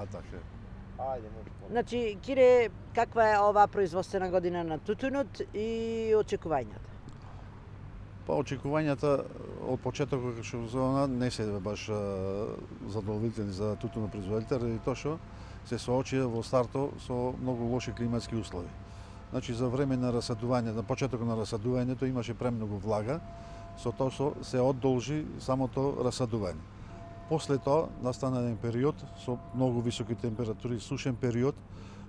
така. Ајде, може. Значи, Кире, каква е оваа производствена година на тутунот и очекувањата? Па очекувањата од почетокот што зона не се баш задоволителни за тутунопроизводителите, ради тоа што се соочија во старто со многу лоши климатски услови. Значи за време на расадување, на почетокот на расадувањето имаше премногу влага, со тоа што се одолжи самото расадување. После тоа настана еден период со многу високи температури, сушен период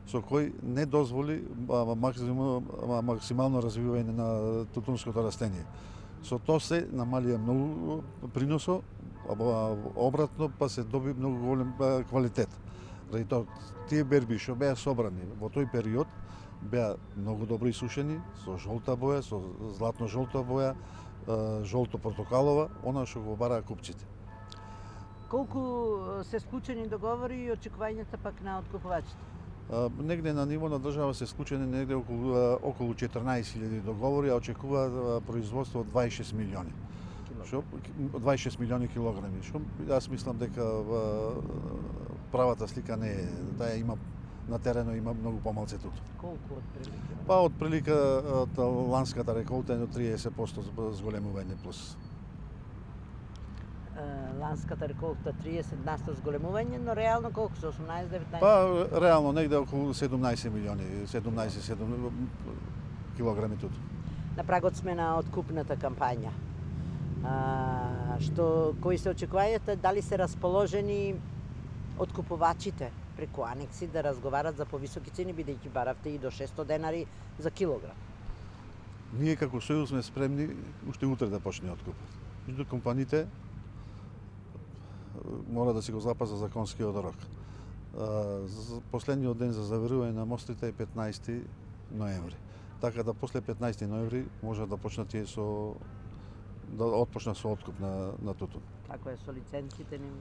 со кој не дозволи максимално развивање на тутунското растение. Со тоа се намалија многу приносо, обратно па се доби многу голем квалитет. Ради тоа тие берби што беа собрани во тој период беа многу добро исушени, со жолта боја, со златно-жолта боја, жолто-портокалова, она што го бараа купците. Колку се склучени договори и очекувањата пак на откупувачите? Негде на ниво на држава се склучени негде околу 14.000 договори, а очекува производство од 26 милиони. 26 милиони килограми. Што јас мислам дека правата слика не е. Таа има на терено има многу помалце тутун. Колку отприлика? Па отприлика од ланската реколта е до 30% зголемување плюс. Ланската реколта 30% зголемување, но реално колку се 18-19? Па реално негде околу 17 милиони, 17 килограми тутун. На прагот сме на откупната кампања. Кои се очекувањата, дали се расположени откупувачите преку анекси да разговарат за повисоки цени, бидејќи баравте и до 600 денари за килограм? Ние како сојуз сме спремни уште утре да почне откупот. Меѓу компаниите мора да си го запаза законскиот рок. Последниот ден за заверување на мостите е 15 ноември. Така да после 15 ноември може да почнат тие да отпочнат со откуп на тутун. Како е со лиценците ним?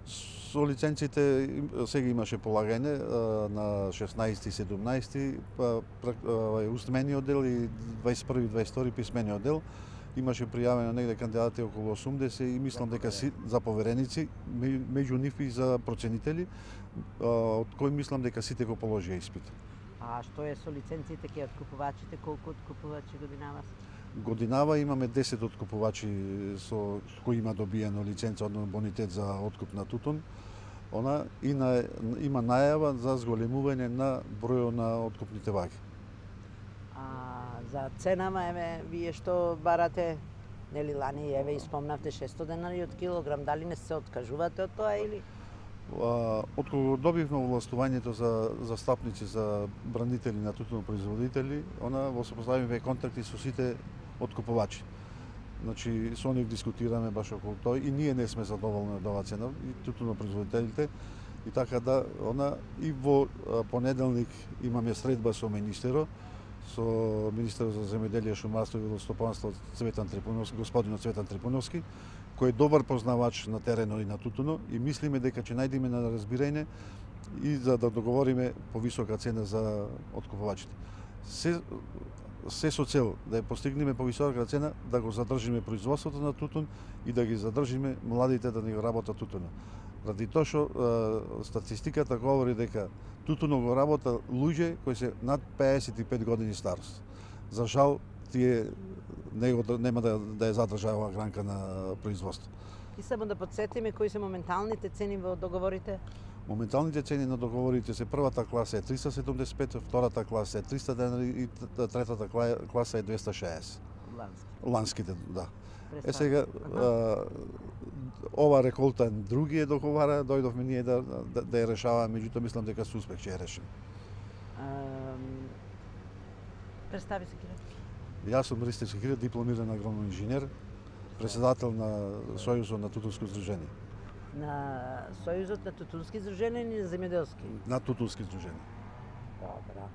Со лиценците сега имаше полагање на 16 и 17, устмениот дел и 21 и 22 писмениот дел. Имаше пријавено негде кандидати околу 80 и мислам дека за повереници, меѓу нив и за проценители, од кои мислам дека сите го положија испит. А што е со лиценците ке откупувачите, колку откупувачи годинава? Годинава имаме 10 откупувачи со кои има добиено лиценца, одно бонитет за откуп на тутун. Има најава за зголемување на бројот на откупните ваги. За ценама, еве, вие што барате, нели лани, еве, испомнавте 600 денари од килограм, дали не се откажувате од тоа или? Откога добивме овластувањето за застапници за бранители на тутунопроизводители, во поставиме контакти со сите откупувачи. Значи, со нив дискутираме баш околу тоа и ние не сме задоволни од оваа цена, и тутунопроизводителите. И така да, и во понеделник имаме средба со министерот, со министерот за земјоделие, шумарство и водостопанство господинот Цветан Трипуновски, кој е добар познавач на терено и на тутуно и мислиме дека ќе најдеме на разбирање и за да договориме повисока цена за откупувачите. Се со цел да ја постигнеме повисока цена, да го задржиме производството на тутун и да ги задржиме младите да ни го работат тутуно. Ради тоа што статистиката говори дека тутуно го работа луѓе кои се над 55 години старост. За жал, тие нема да ја задржа оваа гранка на производство. И само да подсетиме кои се моменталните цени во договорите? Моменталните цени на договорите се првата класа е 375, втората класа е 300 денари и третата класа е 260. Ланските, да. Сега ова реколта други договара, дојдовме ние да ја решаваме, меѓутоа мислам дека со успех ќе ја решиме. Представи се, Кире. Јас сум Ристо Кире, дипломиран агроном инженер, председател на Сојузот на тутунско здружение. На Сојузот на тутунски здруженија или на земјоделски? На тутунски здруженија. Добра.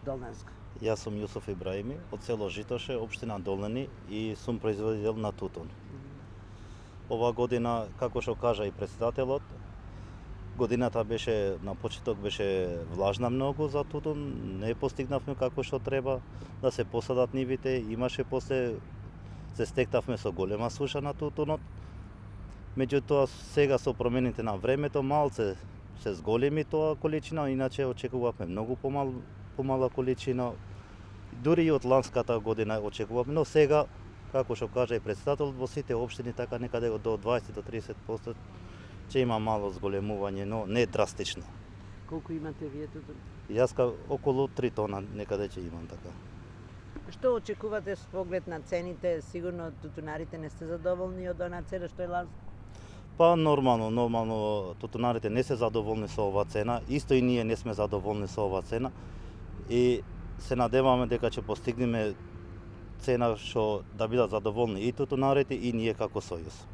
Долненска. Јас сум Јусуф Ибраими од село Житоше, општина Долнени и сум производител на тутун. Ова година, како што кажа и председателот, годината беше на почеток беше влажна многу за тутун, не постигнавме како што треба да се посадат нивите, имаше после се стектавме со голема суша на тутунот. Меѓутоа сега со промените на времето малце се зголеми тоа количина, иначе очекувавме многу помала количина. Дури и од ланската година очекувавме, но сега, како што кажа и председателот, во сите општини така некаде до 20 до 30% ќе има мало зголемување, но не драстично. Колку имате вие тутун? Јас околу 3 тона некаде ќе имам така. Што очекувате со поглед на цените? Сигурно тутунарите не сте задоволни од онаа цена што е ланска? Па нормално тутунарите не се задоволни со оваа цена, исто и ние не сме задоволни со оваа цена и се надеваме дека ќе постигнеме цена што да бидат задоволни и тутунарите и ние како сојуз.